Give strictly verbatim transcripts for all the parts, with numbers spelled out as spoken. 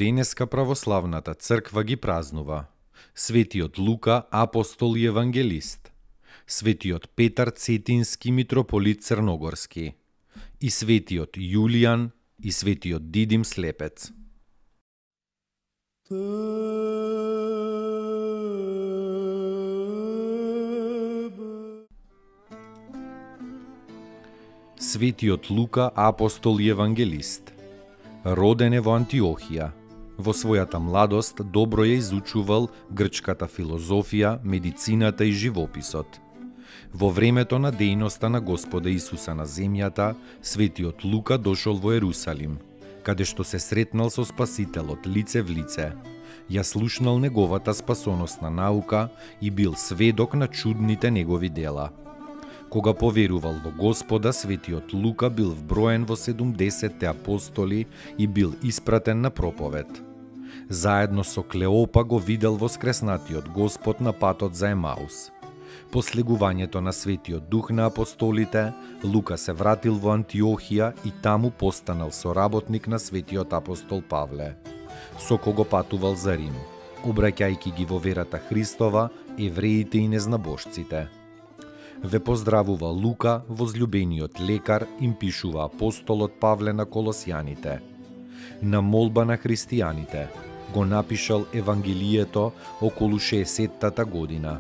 Денеска православната црква ги празнува светиот Лука, апостол и евангелист, светиот Петар Цетински, митрополит Црногорски, и светиот Јулијан и светиот Дидим Слепец. Светиот Лука, апостол и евангелист, роден е во Антиохија. Во својата младост добро ја изучувал грчката филозофија, медицината и живописот. Во времето на дејноста на Господа Исуса на земјата, светиот Лука дошол во Ерусалим, каде што се сретнал со Спасителот лице в лице. Ја слушнал неговата спасоносна наука и бил сведок на чудните негови дела. Кога поверувал во Господа, светиот Лука бил вброен во седумдесетте апостоли и бил испратен на проповед. Заедно со Клеопа го видел воскреснатиот Господ на патот за Емаус. По слегувањето на светиот дух на апостолите, Лука се вратил во Антиохија и таму постанал соработник на светиот апостол Павле, со кого патувал за Рим, обраќајќи ги во верата Христова евреите и незнабожците. Ве поздравува Лука, возлюбениот лекар, им пишува апостолот Павле на Колосјаните. На молба на христијаните го напишал Евангелието околу шеесеттата година.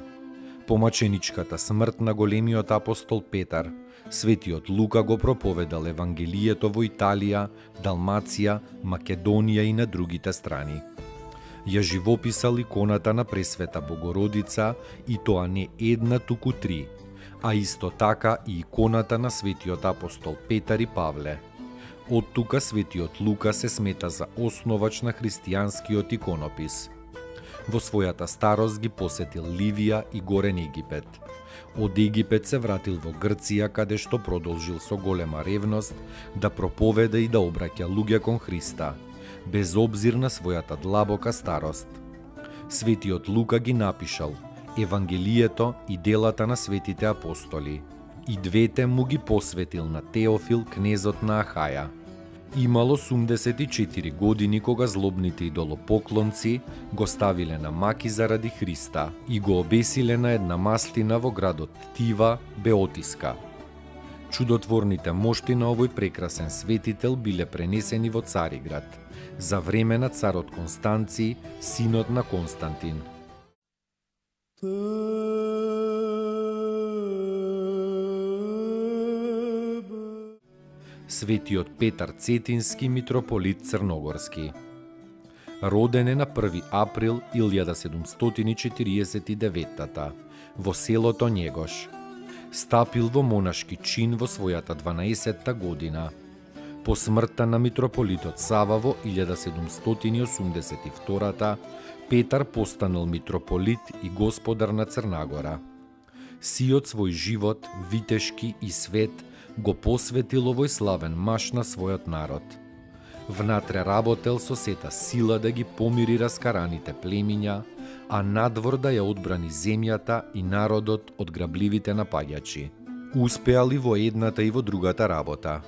По маченичката смрт на големиот апостол Петар, светиот Лука го проповедал Евангелието во Италија, Далмација, Македонија и на другите страни. Ја живописал иконата на Пресвета Богородица, и тоа не една, туку три, а исто така и иконата на светиот апостол Петар и Павле. Од тука светиот Лука се смета за основач на христијанскиот иконопис. Во својата старост ги посетил Ливија и Горен Египет. Од Египет се вратил во Грција, каде што продолжил со голема ревност да проповеда и да обраќа луѓе кон Христа, без обзир на својата длабока старост. Светиот Лука ги напишал Евангелието и делата на светите апостоли. И двете му ги посветил на Теофил, кнезот на Ахаја. Имал осумдесет и четири години кога злобните идолопоклонци го ставиле на маки заради Христа и го обесиле на една мастина во градот Тива, Беотиска. Чудотворните мошти на овој прекрасен светител биле пренесени во Цариград, за време на царот Констанци, синот на Константин. Светиот Петар Цетински, митрополит Црногорски. Роден е на први април илјада седумстотини и четириесет и девета во селото Njegos. Стапил во монашки чин во својата дванаесетта година. По смртта на митрополитот Сава во илјада седумстотини и осумдесет и втора Петар постанал митрополит и господар на Црнагора. Сиот свој живот, витешки и свет, го посветил овој славен маж на својот народ. Внатре работел со сета сила да ги помири раскараните племиња, а надвор да ја одбрани земјата и народот од грабливите напаѓачи. Успеал и во едната и во другата работа.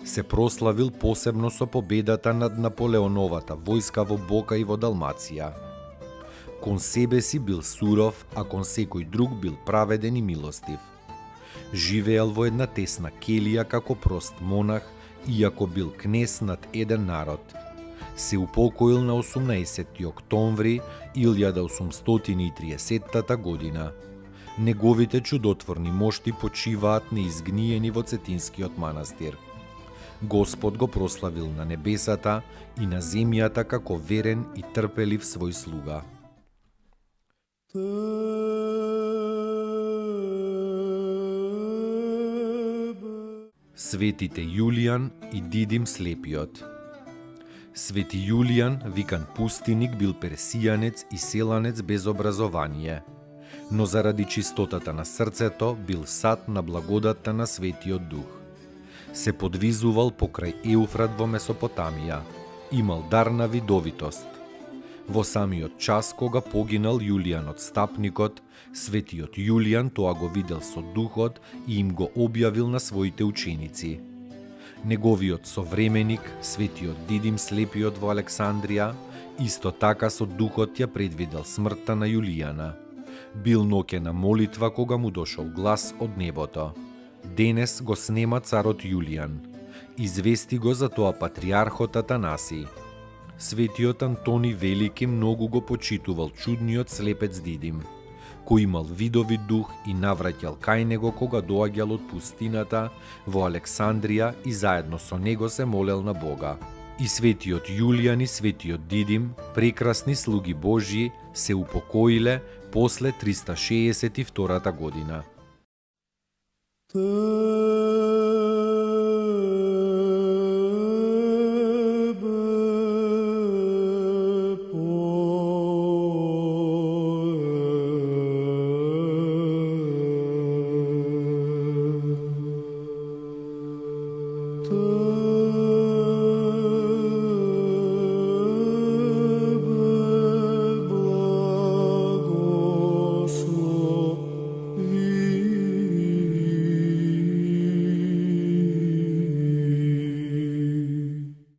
Се прославил посебно со победата над Наполеоновата војска во Бока и во Далмација. Кон себе си бил суров, а кон секој друг бил праведен и милостив. Живеел во една тесна келија како прост монах, иако бил кнез над еден народ. Се упокоил на осумнаесетти октомври илјада осумстотини и триесеттата година. Неговите чудотворни мошти почиваат неизгниени во Цетинскиот манастир. Господ го прославил на небесата и на земјата како верен и трпелив свој слуга. Светите Јулијан и Дидим слепиот. Свети Јулијан, викан пустиник, бил персијанец и селанец без образование, но заради чистотата на срцето бил сад на благодатта на Светиот Дух. Се подвизувал покрај Еуфрат во Месопотамија, имал дар на видовитост. Во самиот час кога погинал Јулијан од стапникот, Светиот Јулијан тоа го видел со духот и им го објавил на своите ученици. Неговиот современик, Светиот Дидим слепиот во Александрија, исто така со духот ја предвидел смртта на Јулијана. Бил ноќена молитва кога му дошол глас од небото. Денес го снема царот Јулијан. Извести го за тоа патриархот Атанаси. Светиот Антони Велики многу го почитувал чудниот слепец Дидим, кој имал видови дух и навраќал кај него кога доаѓал од пустината во Александрија и заедно со него се молел на Бога. И Светиот Јулијан и Светиот Дидим, прекрасни слуги Божји, се упокоиле после триста шеесет и втората година.